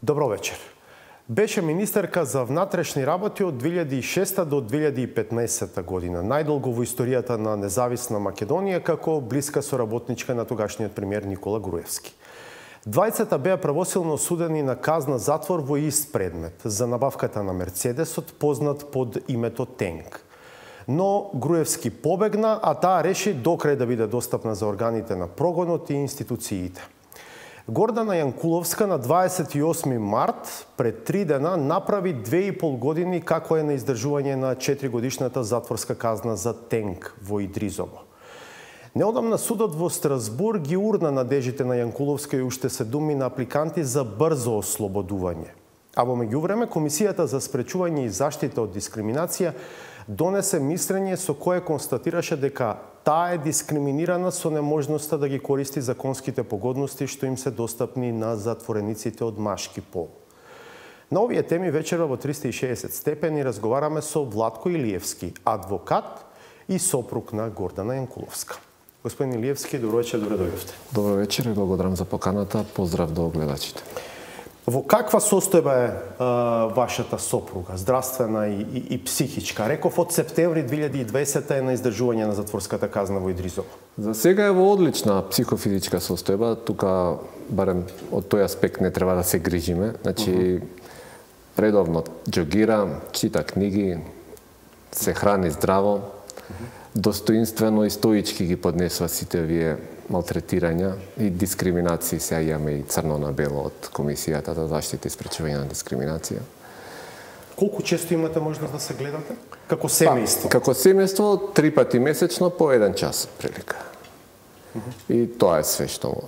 Добро вечер. Беше министерка за внатрешни работи од 2006 до 2015 година, најдолго во историјата на независна Македонија како блиска соработничка на тогашниот премиер Никола Груевски. Двајцата беа правосилно осудени на казна затвор во ист предмет за набавката на Мерцедесот, познат под името Тенк. Но Груевски побегна, а таа реши докрај да биде достапна за органите на прогонот и институциите. Гордана Јанкуловска на 28 март, пред 3 дена, направи 2,5 години како е на издржување на 4-годишната затворска казна за Тенк во Идризово. Неодамна судот во Страсбург ги урна надежите на Јанкуловска и уште 7 апликанти за брзо ослободување. А во меѓувреме, Комисијата за спречување и заштита од дискриминација донесе мислење со кое констатираше дека таа е дискриминирана со неможноста да ги користи законските погодности што им се достапни на затворениците од машки пол. На овие теми вечерва во 360 степени разговараме со Владко Илиевски, адвокат и сопруг на Гордана Јанкуловска. Господин Илиевски, добро вечер, добре дојдовте. Добро вечер и благодарам за поканата. Поздрав до гледачите. Во каква состојба е вашата сопруга, здравствена и психичка? Реков од септември 2020 е на издржување на затворската казна во Идризово. За сега е во одлична психофизичка состојба. Тука, барем од тој аспект, не треба да се грижиме. Значи, редовно џогира, чита книги, се храни здраво, достоинствено и стоички ги поднесува сите вие малтретирања и дискриминации. Сега имаме и црно на бело од Комисијата за заштита и спречување на дискриминација. Колку често имате можност да се гледате? Како семејство? Како семејство 3 пати месечно по 1 час прилика. И тоа е све што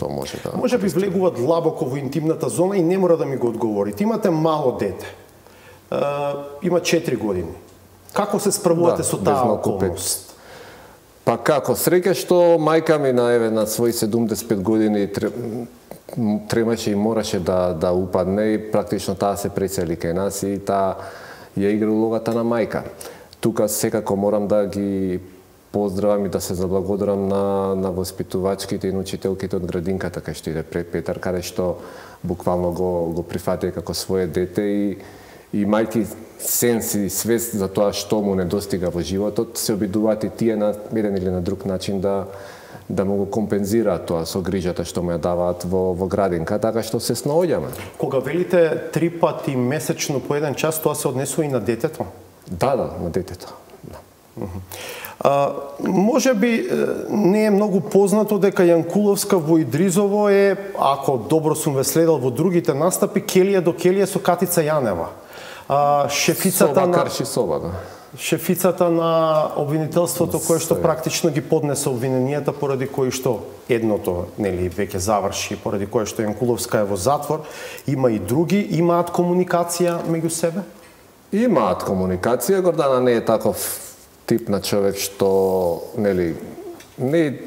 може да... Може би влегува длабоко во интимната зона и не мора да ми го одговорите. Имате мало дете. Има 4 години. Како се справувате со таа околност? Па како, среќа што мајка ми на своји 75 години тремаше и мораше да упадне и практично таа се пресели кај нас и таа ја игра улогата на мајка. Тука секако морам да ги поздравам и да се заблагодарам на воспитувачките и учителките од градинката кај што иде пред Петар, каде што буквално го прифатија како свое дете и мајки сенс и свест за тоа што му недостига во животот, се обидуваат и тие на еден или на друг начин да му го компензираат тоа со грижата што му ја даваат во градинка, така што се снаоѓаме. Кога велите 3 пати месечно по 1 час, тоа се однесува и на детето? Да, на детето. Може би не е многу познато дека Јанкуловска во Идризово е, ако добро сум ве следел во другите настапи, келија до келија со Катица Јанева. Шефицата на обвинителството кој што практично ги поднесе обвиненијата, поради кои што едното веќе заврши, поради кој што Јанкуловска е во затвор. Има и други, имаат комуникација меѓу себе? Имаат комуникација. Гордана не е таков тип на човек што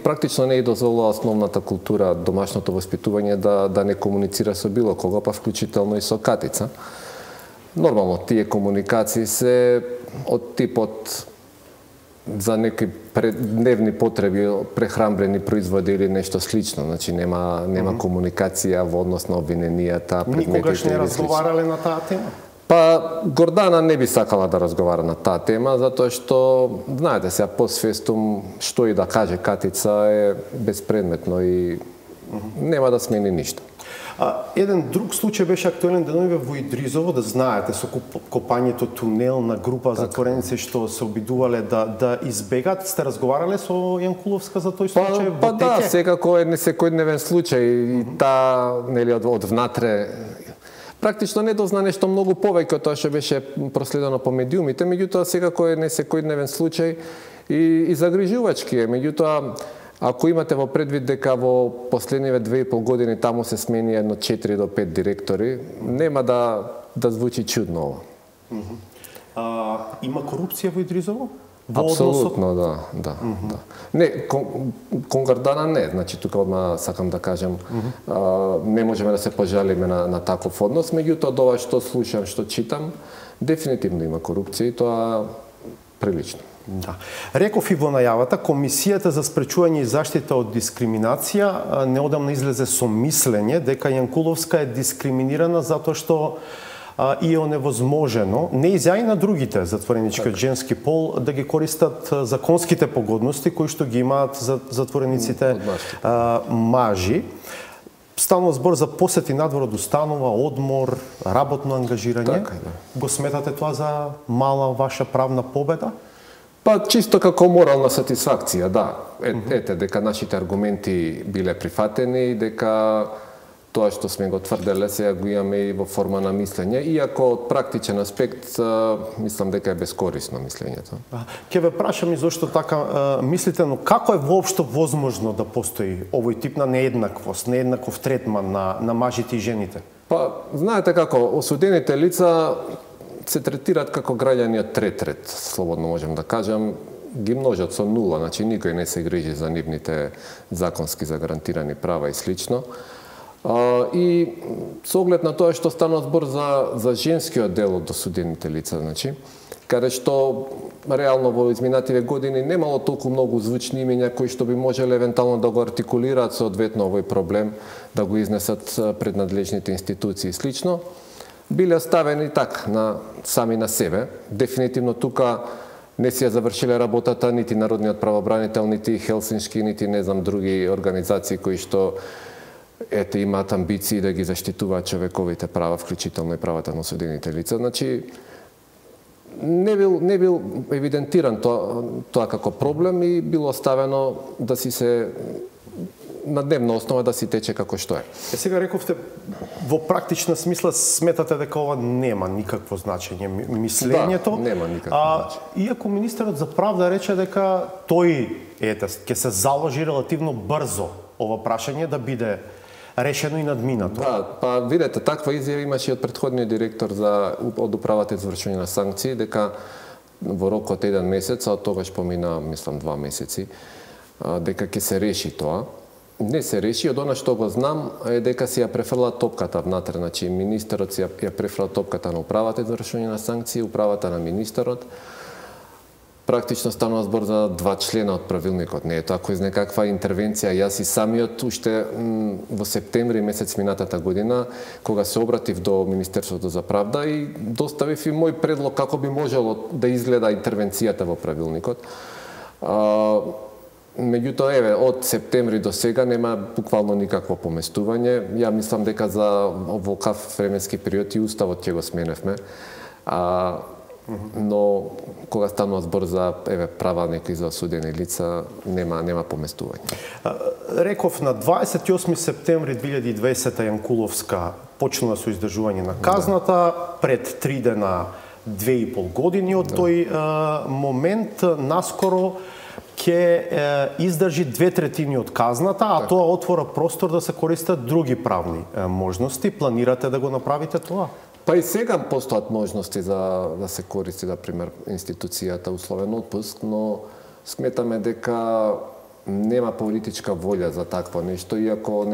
практично не дозволува основната култура, домашното воспитување да не комуницира со било кого, па вклучително и со Катица. Нормално, тие комуникации се од типот за некои дневни потреби, прехрамбрени производи или нешто слично. Значи, нема комуникација во однос на обвиненијата, предметите. Никогаш не разговарале на таа тема? Па, Гордана не би сакала да разговара на таа тема, затоа што, знаете, сега посвестум, што и да каже Катица е безпредметно и нема да смени ништо. Еден друг случај беше актуелен деновиве во Идризово, да знаете, со копањето тунел на група затвореници што се обидувале да избегат. Сте разговарале со Јанкуловска за тој случај? Па да, секако е несекојдневен случај и таа од внатре практично не дозна нешто многу повеќе од тоа што беше проследено по медиумите, меѓутоа секако е несекојдневен случај и загрижувачки е. Меѓутоа, ако имате во предвид дека во последниве 2,5 години таму се смени едно 4 до 5 директори, нема да звучи чудно ова. Има корупција во Идризово? Апсолутно, да. Не, кон Гордана не, значи тука одма сакам да кажем, не можеме да се пожалиме на таков однос, меѓутоа ова што слушам, што читам, дефинитивно има корупција и тоа прилично. Да. Реков и во најавата, Комисијата за спречување и заштита од дискриминација неодамна излезе со мислење дека Јанкуловска е дискриминирана затоа што и е оневозможено, не и на другите затворенички од женски пол да ги користат законските погодности кои што ги имаат за затворениците мажи. Станува збор за посети надвор од установа, одмор, работно ангажирање. Така, да. Го сметате тоа за мала ваша правна победа? Па чисто како морална сатисфакција, да. Ете, дека нашите аргументи биле прифатени, дека тоа што сме го тврделе сега го имаме и во форма на мислење, иако од практичен аспект мислам дека е безкорисно мислењето. Ќе ве прашам и зошто така мислите, но како е воопшто возможно да постои овој тип на нееднаквост, нееднаков третман на мажите и жените? Па, знаете како, осудените лица се третираат како граѓани од трет ред, слободно можем да кажам, ги множат со нула, значи никој не се грижи за нивните законски загарантирани права и слично. И со оглед на тоа што станува збор за женскиот дел од осудените лица, значи, каде што реално во изминативе години немало толку многу звучни имења кои што би можеле евентуално да го артикулираат соодветно овој проблем, да го изнесат пред надлежните институции и слично, биле оставени сами на себе. Дефинитивно тука не си ја завршиле работата нити Народниот правобранител, нити Хелсиншки, нити не знам други организации кои што имаат амбиции да ги заштитуваат човековите права, вклучително и правата на осудените лица. Значи, не бил евидентиран тоа како проблем и било оставено да си се на дневна основа да си тече како што е. Сега рековте, во практична смисла сметате дека ова нема никакво значење мислењето. Да, нема никакво значење. Иако министерот за правда рече дека тој ќе се заложи релативно брзо ова прашање да биде решено и надминато. Да, па видете, таква изјава имаше и од претходниот директор од управата за извршување на санкции, дека во рок од 1 месец, а од тогаш помина, мислам, 2 месеци, дека ќе се реши тоа. Не се реши, од она што го знам е дека си ја префрла топката внатре, значи министерот си ја префрла топката на управата за извршување на санкции, управата на министерот. Практично станува збор за 2 члена од правилникот. Не е тоа кој знае каква интервенција. Јас и самиот уште во септември месец минатата година, кога се обратив до Министерството за правда и доставив и мој предлог како би можело да изгледа интервенцијата во правилникот. Меѓутоа, од септември до сега нема буквално никакво поместување. Ја мислам дека за оваков временски период и уставот ќе го сменевме. Но кога станува збор за права некои за осудени лица, нема поместување. Реков на 28 септември 2020 Јанкуловска почнала со издржување на казната, пред 3 дена 2,5 години од тој момент, наскоро ќе издржи 2/3 од казната, а тоа отвора простор да се користат други правни можности. Планирате да го направите тоа? Па и сега постојат можности за да се користи, например, институцијата условен отпуск, но сметаме дека нема политичка волја за такво нешто, иако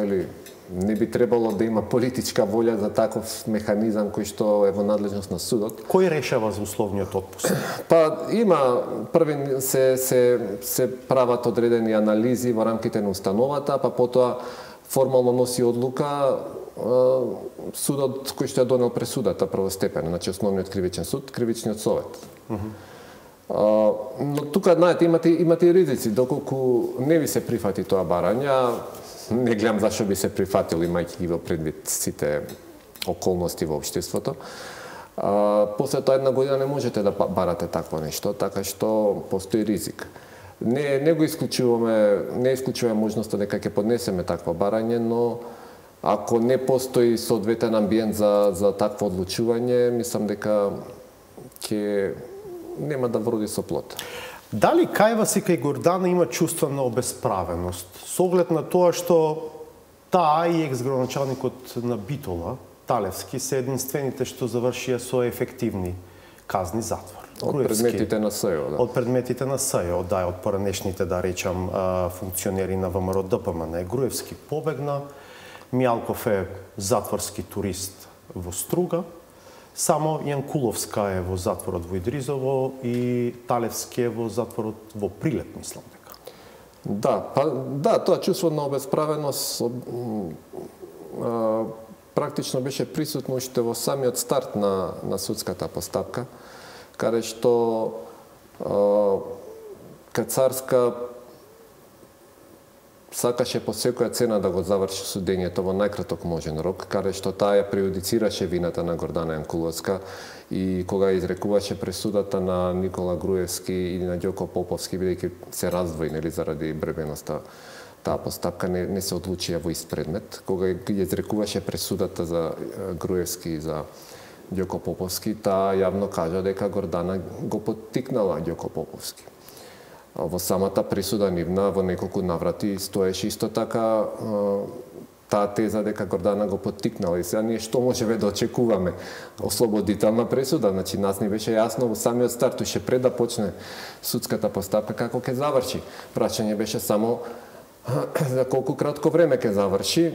не би требало да има политичка волја за таков механизам кој што е во надлежност на судот. Кој решава за условниот отпуск? Па има први се прават одредени анализи во рамките на установата, па потоа формално носи одлука судот кој што ја донел пресудата првостепена, значи основниот кривичен суд, кривичниот совет. Но тука, знаете, имате и ризици, доколку не ви се прифати тоа барање, не гледам зашто би се прифатил, имајќи ги во предвид сите околности во општеството. После тоа 1 година не можете да барате такво нешто, така што постои ризик. Не го исклучуваме можноста дека ќе поднесеме такво барање, но ако не постои соодветен амбиент за такво одлучување, мислам дека ќе нема да вроди со плод. Дали кај вас и кај Гордана има чувство на обесправеност? Со оглед на тоа што таа и екс-градоначалникот на Битола, Талевски, се единствените што завршија со ефективни казни затвор. Од предметите на СЈО, да. Од предметите на СЈО, да, од поранешните, да речам, функционери на ВМРО ДПМН. Груевски побегна, Мијалков е затворски турист во Струга, Само Јанкуловска е во затворот во Идризово и Талевски е во затворот во Прилеп, мислам дека. Да, тоа чувство на обесправеност практично беше присутно уште во самиот старт на судската постапка, каде што Кацарска сакаше по секоја цена да го заврши судењето во најкраток можен рок, каде што таа ја прејудицираше вината на Гордана Јанкуловска и кога изрекуваше пресудата на Никола Груевски и на Ѓоко Поповски, бидејќи се раздвои заради бребеноста, таа постапка не се одлучија во ист предмет. Кога ја изрекуваше пресудата за Груевски и за Ѓоко Поповски, таа јавно кажа дека Гордана го поттикнала Ѓоко Поповски. Во самата присуда нивна во неколку наврати стоеше исто така таа теза дека Гордана го поттикнала. И сега ние што можеме да очекуваме? Ослободителна пресуда, значи нас ни беше јасно во самиот старт, уште пред да почне судската постапка како ќе заврши. Прашање беше само за колку кратко време ќе заврши.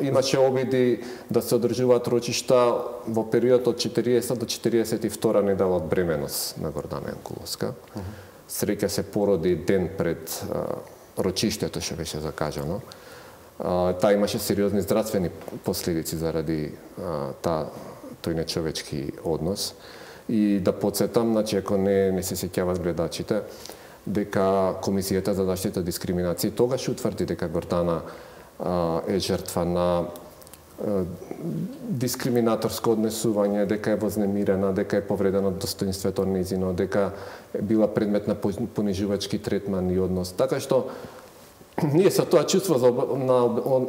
Имаше обиди да се одржуваат рочишта во период од 40 до 42 недела од бременост на Гордана Јанкуловска. Среќа се породи ден пред рочиштето, што беше закажано. Таа имаше сериозни здравствени последици заради тој нечовечки однос. И да подсетам, значи, ако не се сеќават гледачите, дека Комисијата за заштита од дискриминација тогаш утврди дека Гордана е жртва на дискриминаторско однесување, дека е вознемирена, дека е повредено достоинството нејзино, дека е била предмет на понижувачки третман и однос. Така што ние со тоа чувство на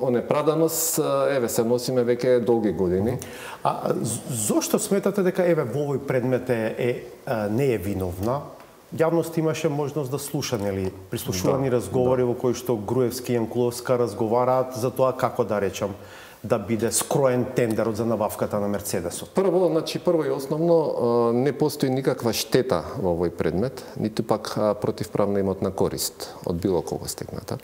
онеправданост се носиме веќе долги години. А зошто сметате дека во овој предмет не е виновна? Јавност имаше можност да слуша, прислушувани разговори во кои што Груевски и Јанкуловска разговараат за тоа како да речам да биде скроен тендерот за набавката на Мерцедесот. Прво и основно не постои никаква штета во овој предмет, ниту пак противправна имотна корист од било кого стекната.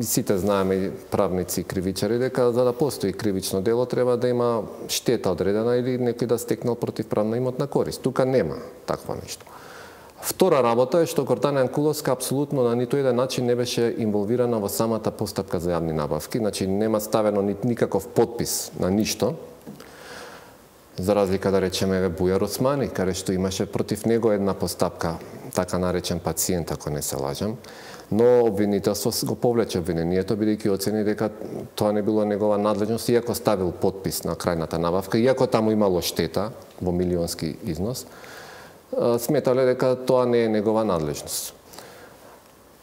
Сите знаеме, правници и кривичари, дека за да постои кривично дело треба да има штета одредена или некој да стекнал противправна имотна корист. Тука нема таква нешто. Втора работа е што Гордана Јанкуловска апсолутно на ниту еден начин не беше инволвирана во самата постапка за јавни набавки, значи нема ставено никаков подпис на ништо. За разлика да речеме Бујар Османи, каде што имаше против него една постапка, така наречен пациент, ако не се лажам, но обвинителство го повлече обвинението, бидејќи оцени дека тоа не било негова надлежност, иако ставил подпис на крајната набавка, иако таму имало штета во милионски износ, сметале дека тоа не е негова надлежност.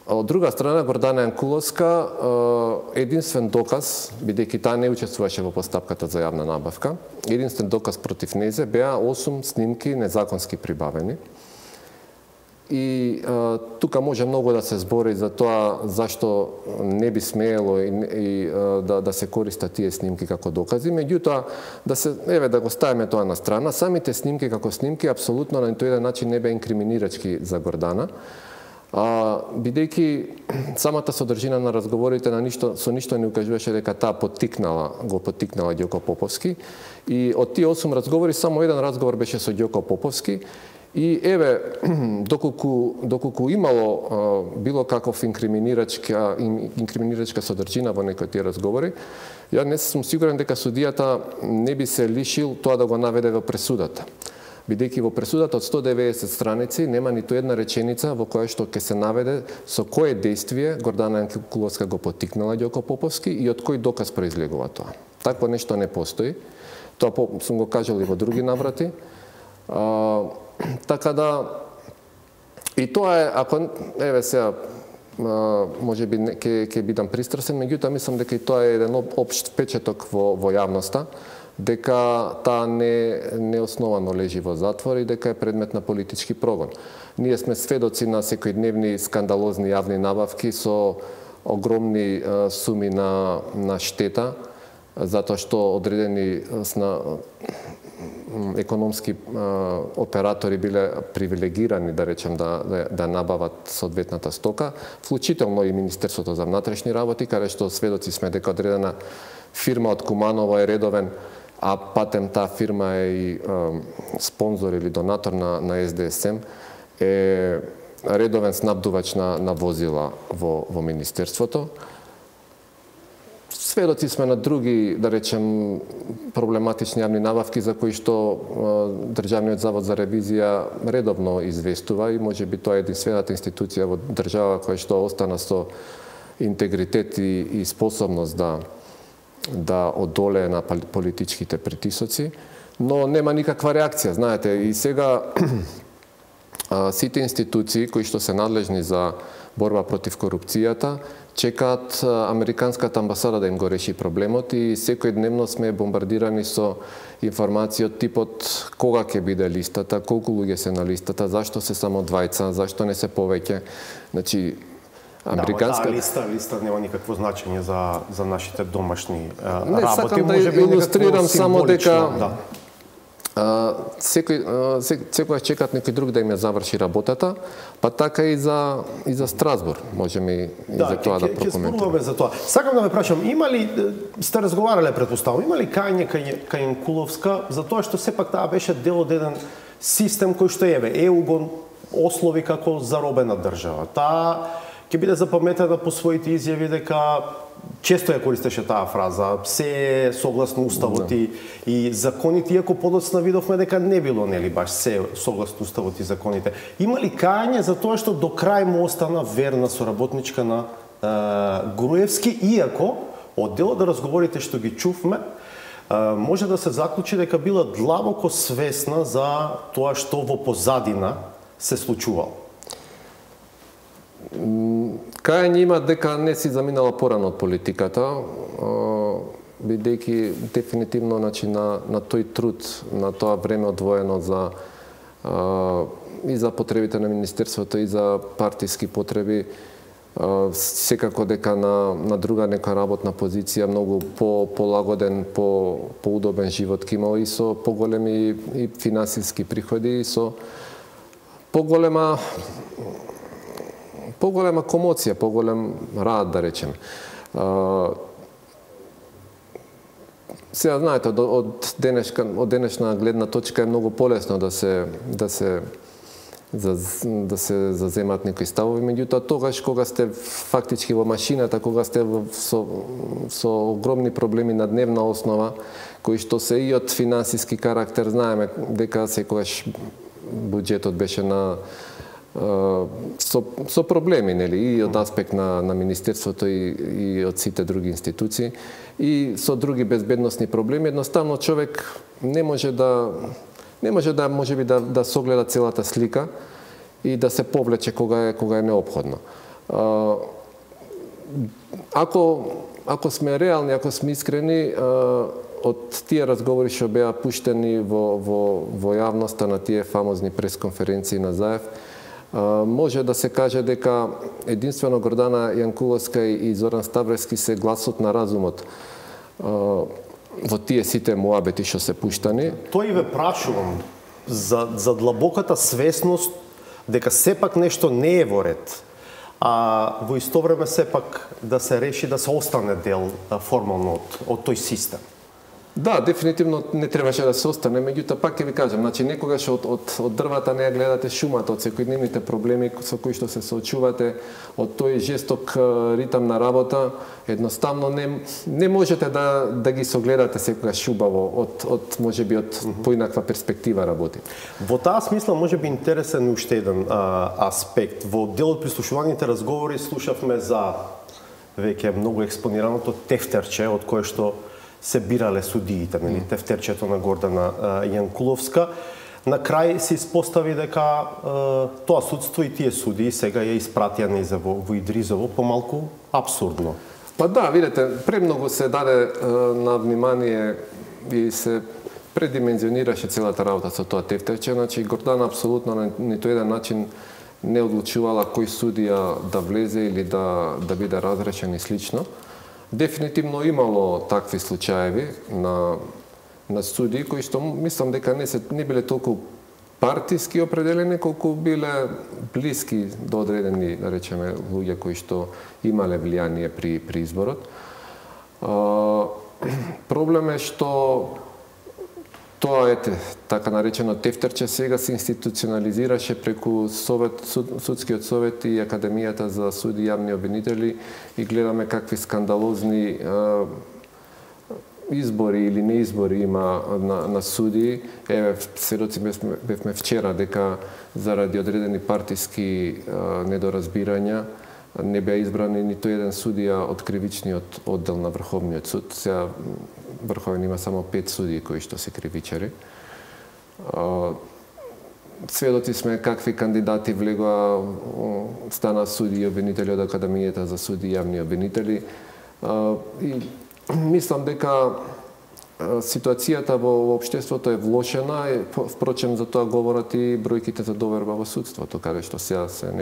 Од друга страна, Гордана Јанкуловска, единствен доказ, бидејќи таа не учествуваше во постапката за јавна набавка, единствен доказ против незе беа 8 снимки незаконски прибавени. И тука може многу да се збори за тоа зашто не би смеело и да се користат тие снимки како докази, меѓутоа да го ставиме тоа на страна, самите снимки како снимки апсолутно на тој еден начин не беа инкриминирачки за Гордана, бидејќи самата содржина на разговорите со ништо не укажуваше дека таа го поттикнала Ѓоко Поповски, и од тие 8 разговори само еден разговор беше со Ѓоко Поповски. И доколку имало било каков инкриминирачка содржина во некои тие разговори, ја не сум сигурен дека судијата не би се лишил тоа да го наведе во пресудата. Бидејќи во пресудата од 190 страници нема ниту една реченица во која што ќе се наведе со кое действие Гордана Јанкуловска го поттикнала Ѓоко Поповски и од кој доказ произлегува тоа. Такво нешто не постои. Тоа сум го кажал и во други наврати. Така да, и тоа е, ако, сега, може би ќе бидам пристрасен, меѓутоа мислам дека и тоа е еден општ впечаток во јавноста, дека таа не основано лежи во затвор и дека е предмет на политички прогон. Ние сме сведоци на секојдневни скандалозни јавни набавки со огромни суми на штета, затоа што одредени економски оператори биле привилегирани, да речем, да набават соодветната стока, вклучително и Министерството за внатрешни работи, каде што сведоци сме дека одредена фирма од Куманово е редовен а патем таа фирма е и спонзор или донатор на СДСМ, е редовен снабдувач на возила во Министерството. Сведоци сме на други, да речем, проблематични јавни набавки за кои што Државниот завод за ревизија редовно известува и можеби тоа е единствената институција во држава која што остана со интегритет и способност да одолее на политичките притисоци, но нема никаква реакција, знаете, и сега сите институции кои што се надлежни за борба против корупцијата чекаат Американската амбасада да им го реши проблемот и секојдневно сме бомбардирани со информација од типот кога ќе биде листата, колку луѓе се на листата, зашто се само двајца, зашто не се повеќе. Значи, американска листа нема никакво значење за нашите домашни работи. Не сакам да илустрирам само дека секојаш чекат некој друг да им ја заврши работата, па така и за Страсбург, можеме и за тоа да прокоментираме. За тоа. Сакам да ме прашам, има ли, сте разговарале предпоставам, има ли кајање кај Јанкуловска за тоа што сепак таа беше дел од еден систем кој што ЕУ го ослови како заробена држава. Таа ќе биде запаметена по своите изјави дека често ја користеше таа фраза, се е согласно уставот и законите, иако подоцна видовме дека не било нели баш се согласно уставот и законите. Има ли кајање за тоа што до крај му остана верна соработничка на Груевски, иако од дел од разговорите што ги чувме, може да се заклучи дека била длабоко свесна за тоа што во позадина се случувало? Кајање има дека не си заминала порано од политиката, бидејќи дефинитивно на тој труд, на тоа време одвоено и за потребите на Министерството и за партиски потреби, секако дека на друга нека работна позиција, многу полагоден, поудобен живот ке имала и со поголеми и финансиски приходи и со поголема комоција, поголем рад, да речем. Сега, знаете, од денешна гледна точка е многу полесно да се заземат некои ставови, меѓутоа тогаш кога сте фактички во машината, кога сте со огромни проблеми на дневна основа, кои што се и од финансиски карактер, знаеме дека секогаш буџетот беше со проблеми, нели, и од аспект на Министерството и од сите други институции, и со други безбедносни проблеми. Едноставно човек не може можеби да согледа целата слика и да се повлече кога е неопходно. Ако сме реални, ако сме искрени, од тие разговори што беа пуштени во јавноста на тие фамозни пресконференции на Заев, може да се каже дека единствено Гордана Јанкуловска и Зоран Ставрески се гласот на разумот во тие сите муабети што се пуштани. Тој ве прашувам за длабоката свесност дека сепак нешто не е во ред, а во исто време сепак да се реши да се остане дел формално од тој систем. Да, дефинитивно не требаше да се остане, меѓутоа пак ќе ви кажам, значи некогаш од дрвата не ја гледате шумата, од секојдневните проблеми со кои што се соочувате, од тој жесток ритам на работа, едноставно не можете да ги согледате секогаш шубаво од можеби од поинаква перспектива работи. Во таа смисла можеби интересен уште еден аспект. Во дел од прислушуваните разговори слушавме за веќе многу експонираното тефтерче од кое што се бирале судиите, нели, тефтерчето на Гордана Јанкуловска. На крај се испостави дека тоа судство и тие судии сега ја испратија во Идризово помалку абсурдно. Па да, видите, премногу се даде на внимание и се предимензионираше целата работа со тоа тефтерче. Значи, Гордана апсолутно на ниту еден начин не одлучувала кој судија да влезе или да биде разрешен и слично. Дефинитивно имало такви случаеви на судии кои што мислам дека не биле толку партиски определени, колку биле блиски до одредени, да речеме, луѓе кои што имале влијание при изборот. Проблем е што тоа така наречено тефтерче сега се институционализираше преку судскиот совет и Академијата за суди и јавни обвинители и гледаме какви скандалозни избори или неизбори има на суди. Сведоци бевме вчера дека заради одредени партиски недоразбирања не беа избрани ниту еден судија од кривичниот оддел на Врховниот суд. Сега Врховен има само 5 судии кои што се кривичари. Сведоци сме какви кандидати влегоа, стана суди и обвинители од Академијата за суди и јавни обвинители. И мислам дека ситуацијата во општеството е влошена, впрочем за тоа говорат и бројките за доверба во судството, каде што сега се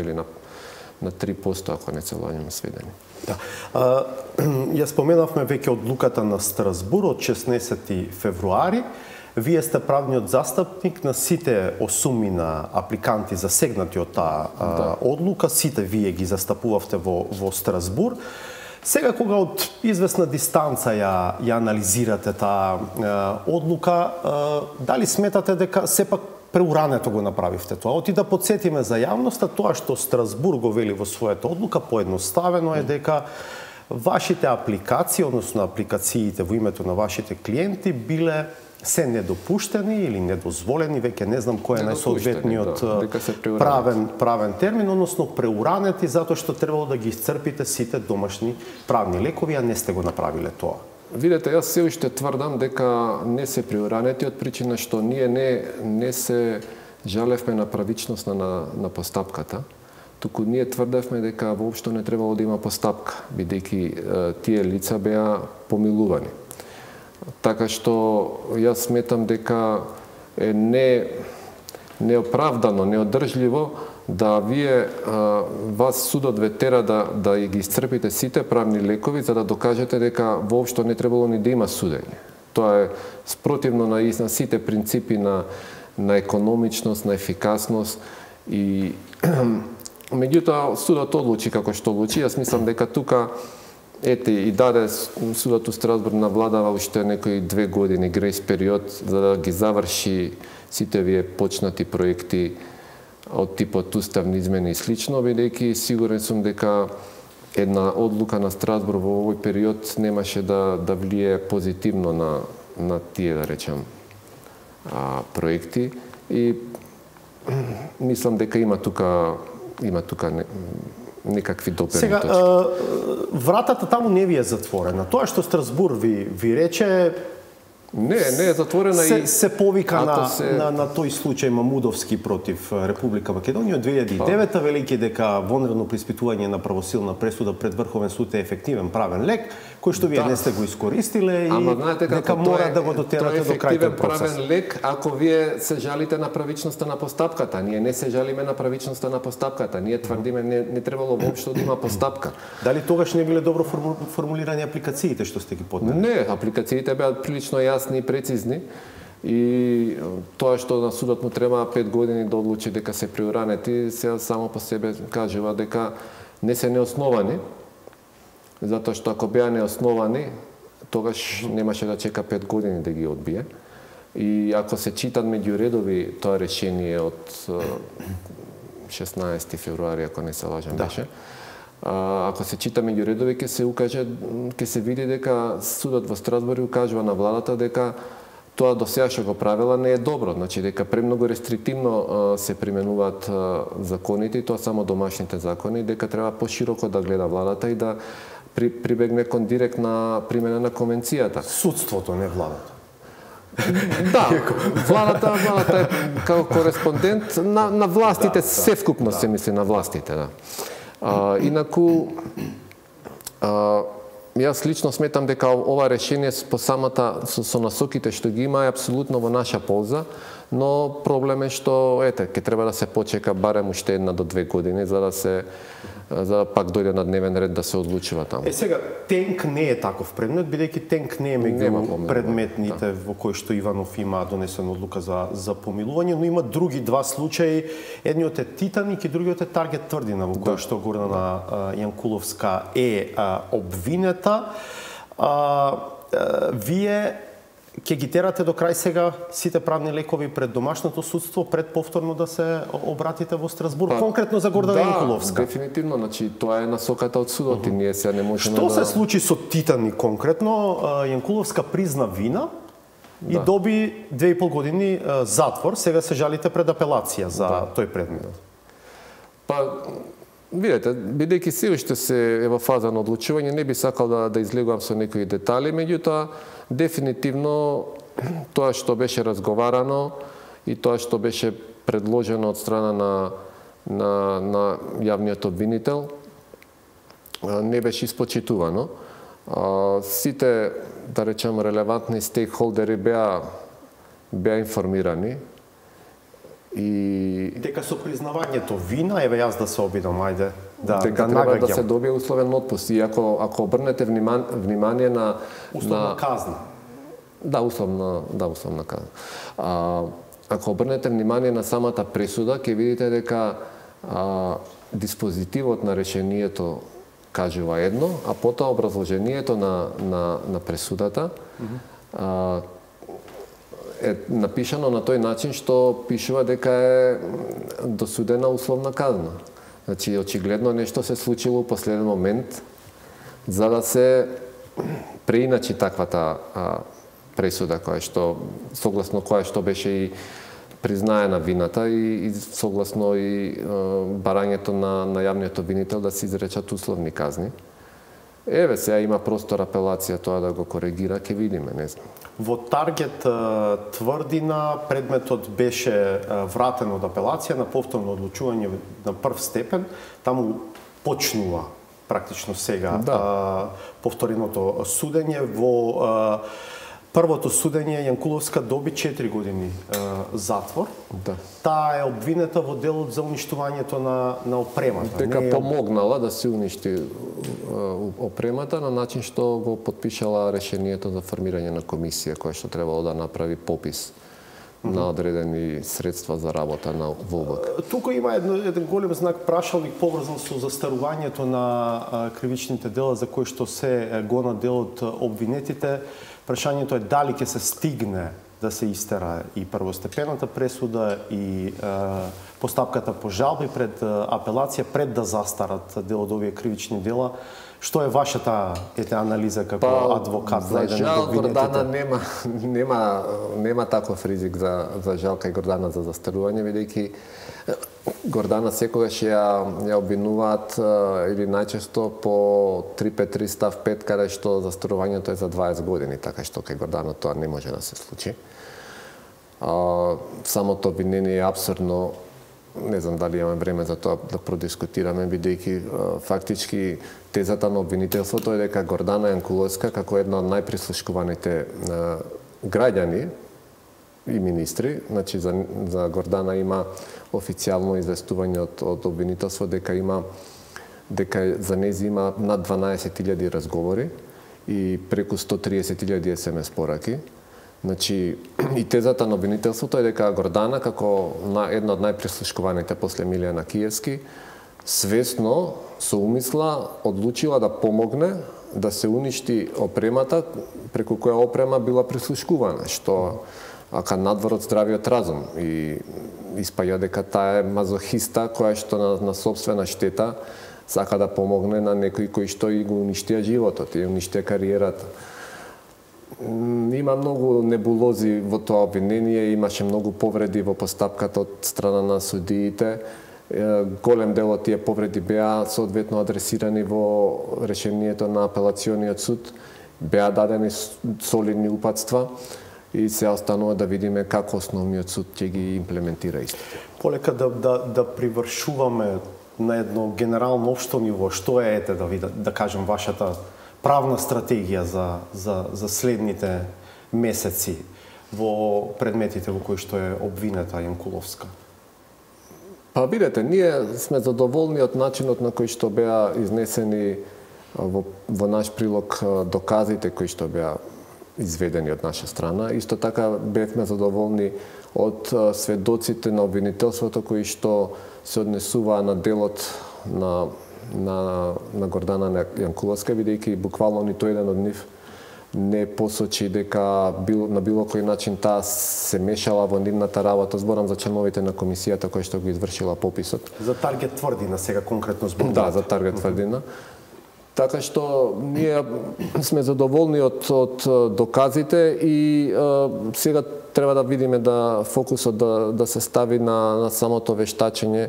на 3%, ако не се лаѓам сведени. Да. Ја споменавме веќе одлуката на Страсбур од 16 февруари. Вие сте правниот застапник на сите осумина апликанти засегнати од таа одлука, сите вие ги застапувавте во Страсбур. Сега кога од известна дистанца ја анализирате таа одлука, дали сметате дека сепак преурането го направивте тоа? Оти да подсетиме за јавноста, тоа што Страсбур го вели во својата одлука, поедноставено е дека вашите апликации, односно апликациите во името на вашите клиенти биле се недопуштени или недозволени, веќе не знам кој е најсоодветниот правен термин, односно преуранети затоа што требало да ги исцрпите сите домашни правни лекови, а не сте го направиле тоа. Видете, јас се уште тврдам дека не се преуранети од причина што ние не се жалевме на правичност на постапката, туку ние тврдевме дека воопшто не требало да има постапка, бидејќи тие лица беа помилувани. Така што јас сметам дека е неоправдано, неодржливо да вие вас судот ве тера да ги исцрпите сите правни лекови за да докажете дека воопшто не требало ни да има судење. Тоа е спротивно на сите принципи на економичност, на ефикасност и меѓутоа судот одлучи како што одлучи. Јас мислам дека тука и даде судот у Страсбур на владава уште некои 2 години грејс период за да ги заврши сите вие почнати проекти од типот уставни измени и слично, бидејќи сигурен сум дека една одлука на Страсбур во овој период немаше да влие позитивно на тие, да речем, проекти и мислам дека има тука некакви доперни точки. Сега, вратата таму не ви е затворена. Тоа што Страсбур ви рече Не е затворена и се повика на тој случај Мамудовски против Република Македонија од 2009, велики дека вонредно приспитување на правосилна пресуда пред Врховен суд е ефективен правен лек, кој што вие не сте го искористиле и дека мора да го дотерате до крајот процес. Правен лек ако вие се жалите на правичноста на постапката. Ние не се жалиме на правичноста на постапката. Ние тврдиме не требало воопшто да има постапка. Дали тогаш не биле добро формулирани апликациите што сте ги поднели? Не, апликациите беа прилично јасни и прецизни и тоа што на судот му треба 5 години да одлучи дека се преуранети, сега само по себе кажува дека не се неосновани, затоа што ако беа неосновани, тогаш немаше да чека 5 години да ги одбие. И ако се читат меѓу редови тоа решение од 16 февруари, ако не се лажам беше, ако се чита меѓу редови, ќе се види дека судот во Страсбур укажува на владата дека тоа до сега што го правила не е добро, значи дека премногу рестриктивно се применуваат законите и тоа само домашните закони, дека треба пошироко да гледа владата и да прибегне кон директна примена на конвенцијата. Судството, не владата. Да, владата е како кореспондент на властите, севкупно се мисли на властите, да. Инаку, јас лично сметам дека ова решение по самата со насоките што ги има е апсолутно во наша полза, но проблем е што ќе треба да се почека барем уште 1 до 2 години за да пак дојде на дневен ред да се одлучува таму. Сега тенк не е таков предмет, бидејќи тенк не е меѓу предметните во кои што Иванов има донесена одлука за помилување, но има други 2 случаи. Едниот е Титаник и другиот е Таргет Тврдина, во кој што Гордана Јанкуловска е обвинета. Вие Ќе ги терате до крај сега сите правни лекови пред домашното судство, пред повторно да се обратите во Страсбург, конкретно за Гордана Јанкуловска? Да, дефинитивно, значи тоа е насоката од судот и ние сега не можеме Што се случи со Титани конкретно? Јанкуловска призна вина и доби 2,5 години затвор, сега се жалите пред апелација за тој предмет. Па, видете, бидејќи се уште се е во фаза на одлучување, не би сакал да излегувам со некои детали, меѓутоа дефинитивно тоа што беше разговарано и тоа што беше предложено од страна на јавниот обвинител не беше испочитувано. Сите, да речеме, релевантни стейкхолдери беа информирани и дека со признавањето вина, еве јас да се обидам, ајде, дека треба да се добие условен отпуст. И ако обрнете внимание на условна казна. Да, условна казна. Ако обрнете внимание на самата пресуда, ќе видите дека диспозитивот на решението кажува едно, а потоа образложението на пресудата е напишано на тој начин што пишува дека е досудена условна казна. Значи, очигледно нешто се случило во последен момент за да се преиначи таквата пресуда согласно која што беше и признаена вината и согласно и барањето на јавниот обвинител да се изречат условни казни. Еве сега има простор апелација тоа да го коригира, ќе видиме, не знам. Во Таргет тврдина предметот беше вратен од апелација на повторно одлучување на прв степен, таму почнува практично сега повтореното судење. Во првото судење Јанкуловска доби 4 години затвор. Таа е обвинета во делот за уништувањето на опремата. Дека помогнала да се уништи опремата на начин што го потпишала решението за формирање на комисија која што требало да направи попис на одредени средства за работа на ВОБК. Тука има еден голем знак прашалник поврзан со застарувањето на кривичните дела за кои што се гона делот обвинетите. Прашањето е дали ќе се стигне да се истера и првостепената пресуда и постапката по жалби пред апелација пред да застарат дел од овие кривични дела. Што е вашата анализа како адвокат на еден од обвинетите? За жал, Гордана нема таков ризик за жал кај Гордана за застарување, бидејќи Гордана секогаш ја обвинуваат или најчесто по 353 став 5, каде што застарувањето е за 20 години, така што кај Гордана тоа не може да се случи. Самото обвинение е абсурдно, не знам дали имаме време за тоа да продискутираме, бидејќи фактички тезата на обвинителството е дека Гордана Јанкуловска, како една од најприслушкуваните граѓани и министри, значи за Гордана има официјално известување од обвинителство дека за нејзи има над 12.000 разговори и преку 130.000 SMS пораки. Значи, и тезата на обвинителството е дека Гордана, како една од најприслушкуваните после Милијана Киевски, свесно, со умисла, одлучила да помогне да се уништи опремата, преку која опрема била прислушкувана, што ака надвор од здравиот разум и испаѓа дека таа е мазохиста која што на сопствена штета сака да помогне на некои кои што и го уништија животот и уништија кариерата. Има многу небулози во тоа обвинение, имаше многу повреди во постапката од страна на судиите. Голем дел од тие повреди беа соодветно адресирани во решението на апелациониот суд, беа дадени солидни упатства и се останува да видиме како основниот суд ќе ги имплементира истите. Полека да привршуваме на едно генерално општо ниво, што е да кажем вашата правна стратегија за следните месеци во предметите во кои што е обвинета Јанкуловска? Па видете, ние сме задоволни од начинот на кој што беа изнесени во наш прилог доказите кои што беа изведени од наша страна. Исто така бевме задоволни од сведоците на обвинителството кои што се однесуваа на делот на Гордана Јанкуловска, бидејќи буквално ниту еден од нив не посочи дека на било кој начин таа се мешала во нивната работа. Зборам за членовите на комисијата која што го извршила пописот. За Таргет Тврдина сега конкретно зборувате? Да, за Таргет Тврдина. Така што ние сме задоволни од доказите и сега треба да видиме да фокусот да се стави на самото вештачење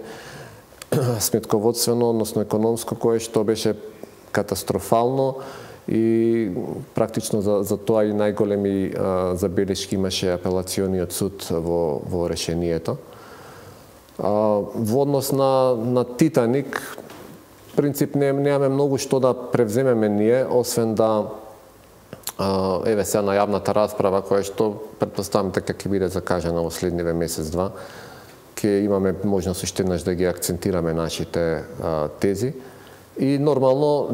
сметководствено, односно економско, кое што беше катастрофално и практично за тоа и најголеми забелешки имаше апелациониот суд во решението. Во однос на Титаник, принцип немаме многу што да превземеме ние, освен да еве сега на јавната расправа, која што претпоставам дека ќе биде закажана во следниве месец-два, ќе имаме можност уште еднаш да ги акцентираме нашите тези и нормално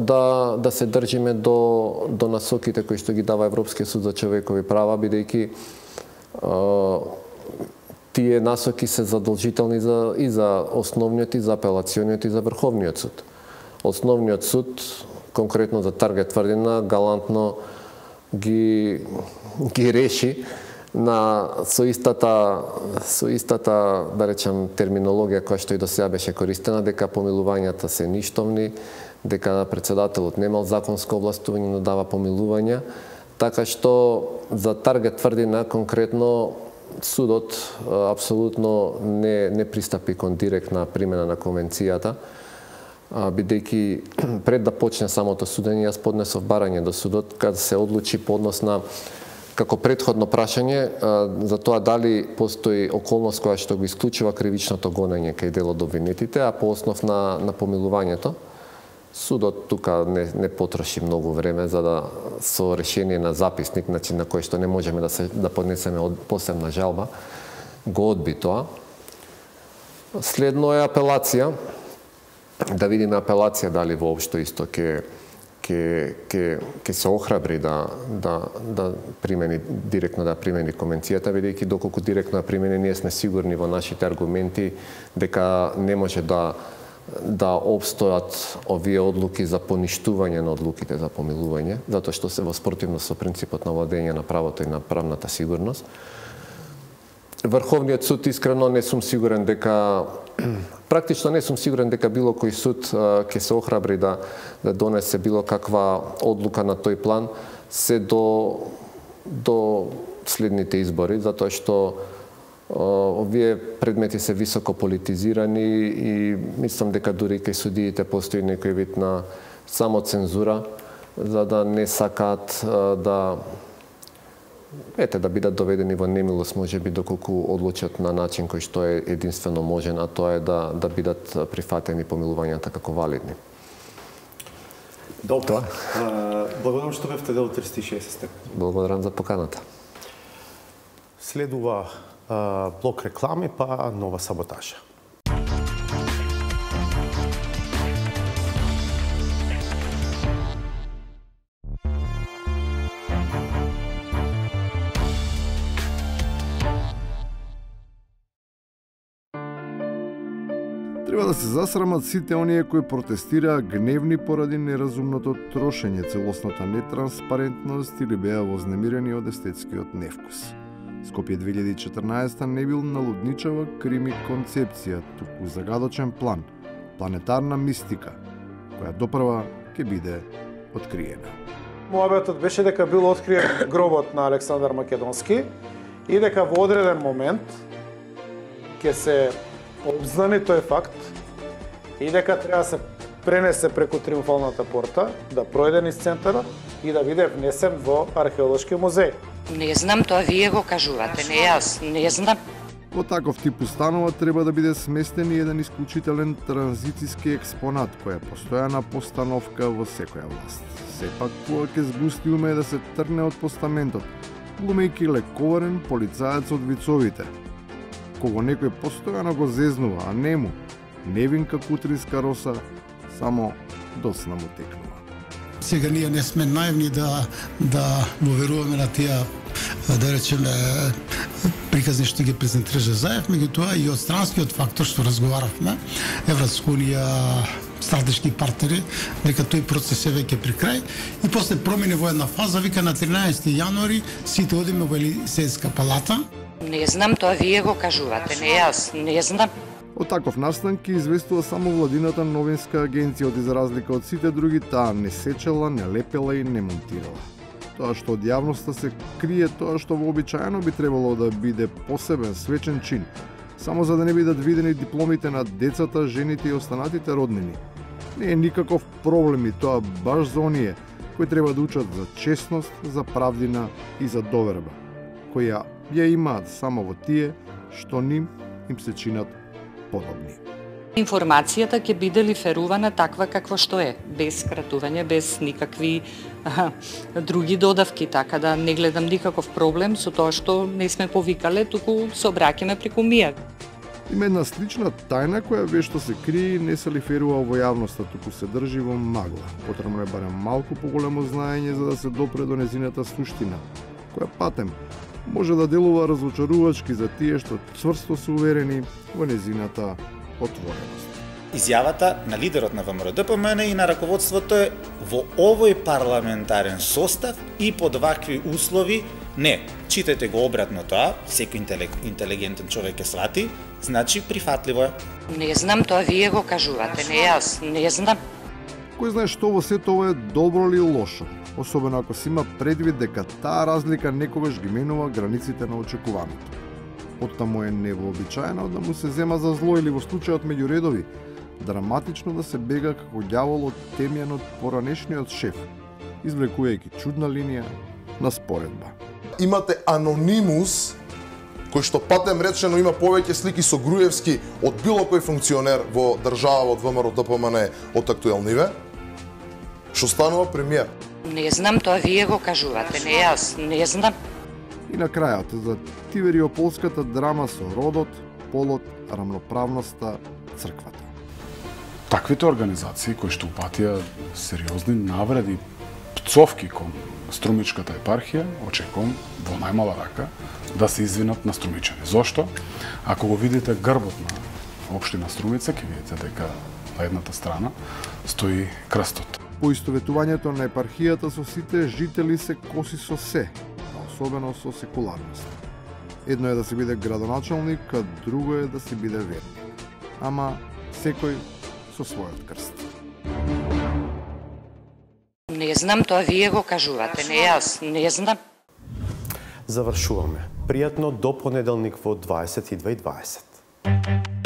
да се држиме до насоките кои што ги дава Европскиот суд за човекови права, бидејќи тие насоки се задолжителни и за основниот, и за апелациониот, и за Врховниот суд. Основниот суд, конкретно за Таргет Тврдина, галантно ги реши со истата, да речем, терминологија која што и до сега беше користена, дека помилувањата се ништовни, дека председателот немал законско овластување да дава помилувања, така што за Таргет Тврдина конкретно судот апсолутно не пристапи кон директна примена на конвенцијата, бидејќи пред да почне самото судење, јас поднесов барање до судот кога се одлучи по однос на како претходно прашање за тоа дали постои околност која што го исклучува кривичното гонење кај дел од обвинетите, а по основ на помилувањето. Судот тука не потроши многу време за да со решение на записник, значи на кој што не можеме да поднесеме посебна жалба, го одби тоа. Следно е апелација. Да видиме апелација дали воопшто исто ќе се охрабри да примени директно да примени конвенцијата, бидејќи доколку директно да примени, ние сме сигурни во нашите аргументи дека не може да обстојат овие одлуки за поништување на одлуките за помилување, затоа што се во спротивност со принципот на владење на правото и на правната сигурност. Врховниот суд, искрено не сум сигурен дека практично не сум сигурен дека било кој суд ќе се охрабри да донесе било каква одлука на тој план се до следните избори, затоа што овие предмети се високо политизирани и мислам дека дури кај судиите постои некој вид на самоцензура за да не сакаат да бидат доведени во немилост, можеби доколку одлучат на начин кој што е единствено можен, а тоа е да бидат прифатени помилувањата како валидни. Добро. Благодарам што бевте дел 360. Благодарам за поканата. Следува блок реклами, па нова саботажа. Треба да се засрамат сите оние кои протестираа гневни поради неразумното трошење, целосната нетранспарентност или беа вознемирени од естетскиот невкус. Скопје 2014 не бил налудничава крими концепција, туку загадочен план, планетарна мистика, која допрва ќе биде откриена. Муабетот беше дека бил откриен гробот на Александар Македонски и дека во одреден момент ќе се обзнани тој факт и дека треба да се пренесе преку Триумфалната порта, да пројде низ центарот и да биде внесен во археолошки музеј. Не знам, тоа вие го кажувате, не јас, не знам. Во таков тип установа треба да биде сместен и еден исклучителен транзициски експонат, која е постојана постановка во секоја власт. Сепак, кога ќе сгусти уме да се трне од постаментот, глумејќи лековарен полицаец од вицовите, кого некој постојано го зезнува, а нему, невинка кутринска роса, само досна му текнува. Сега ние не сме наивни да му веруваме на тие, да речеме, приказни што ги презентираше Заев, меѓутоа и од странскиот фактор што разговаравме, Европска унија стратешки партнери, дека тој процес е веќе при крај и после промени во една фаза, вика на 13 јануари сите одиме во Елисејска палата. Не знам, тоа вие го кажувате, не јас, не знам. Од таков настан ки известува само владината новинска агенција, од за разлика од сите други, таа не сечела, не лепела и не монтирала. Тоа што од јавноста се крие, тоа што вообичаено би требало да биде посебен свечен чин, само за да не бидат видени дипломите на децата, жените и останатите роднини. Не е никаков проблем и тоа баш за оние кои треба да учат за честност, за правдина и за доверба, која ја имаат само во тие што ним им се чинат подобни. Информацијата ќе биде лиферувана таква какво што е, без скратување, без никакви други додавки, така да не гледам никаков проблем со тоа што не сме повикале, туку се обраќаме преку МИА. Има една слична тајна која вешто се крие и не се лиферува во јавноста, туку се држи во магла. Потребно е барем малку поголемо знаење за да се допре до незината суштина, која патем може да делува разочарувачки за тие што цврсто се уверени во незината отвореност. Изјавата на лидерот на ВМРО-ДПМН и на раководството е во овој парламентарен состав и под вакви услови не. Читајте го обратно тоа, секој интелигентен човек ќе свати, значи прифатливо е. Не знам, тоа вие го кажувате, не јас, не знам. Кој знае што во сето ова е добро или лошо, особено ако се има предвид дека таа разлика некогаш ги менува границите на очекуваното. Оттаму е невообичаено да му се зема за зло или во случајот меѓу редови, драматично да се бега како ѓавол од темјен од поранешниот шеф, извлекувајќи чудна линија на споредба. Имате анонимус, кој што патем речено има повеќе слики со Груевски од било кој функционер во држава од ВМРО-ДПМН од актуелниве, што станува премиер. Не знам, тоа вие го кажувате, не јас, не знам. И на крајот, за тивериополската драма со родот, полот, рамноправноста, црквата. Таквите организации кои што упатија сериозни навреди, пцовки кон Струмичката епархија, очекувам во најмала рака да се извинат на струмичани. Зошто? Ако го видите грбот на општина Струмица, ќе видите дека на едната страна стои крстот. Поистоветувањето на епархијата со сите жители се коси со се, особено со секуларност. Едно е да се биде градоначалник, а друго е да се биде верник. Ама секој со својот крст. Не знам, тоа вие го кажувате, не јас, не знам. Завршуваме. Пријатно до понеделник во 22:20.